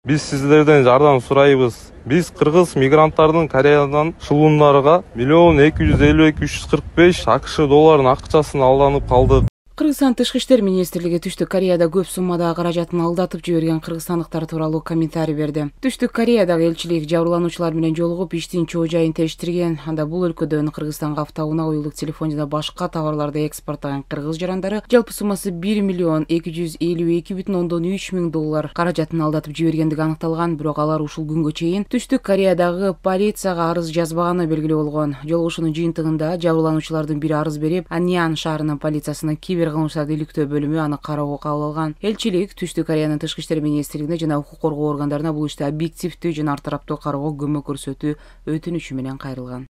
Биз сиздерден жардам сурайбыз. Биз кыргыз мигранттардын Кореядан шылуундарга 1.252.345 АКШ долларын акчасын алданып калдык. Кыргызстан Тышкы иштер министрлиги Түштүк Кореяда көп суммадагы каражатын алдатып жиберген кыргызстандыктар тууралуу комментарий берди. Түштүк Кореядагы элчилик жабырлануучулар менен жолугуп иштин чоо жайын териштирген. Анда бул өлкөдөн Кыргызстанга автоунаа, уюлдук телефон жана башка товарларды экспорттогон кыргыз жарандары жалпы суммасы 1.252.3 миң доллар каражатын алдатып жибергендиги аныкталган. Бирок алар ушул күнгө чейин Түштүк Кореядагы полицияга арыз жазбаганы белгилүү болгон. Жолугушуунун жыйынтыгында жабырлануучулардын бири арыз берип, Аньян шаарынын полициясына кибер кылмыштарды иликтөө бөлүмү аны кароого кабыл алган. Элчилик Түштүк Кореянын Тышкы иштер министрлигине жана укук коргоо органдарына бул иште объективдүү жана ар тараптуу кароого көмөк көрсөтүү өтүнүчү менен кайрылган.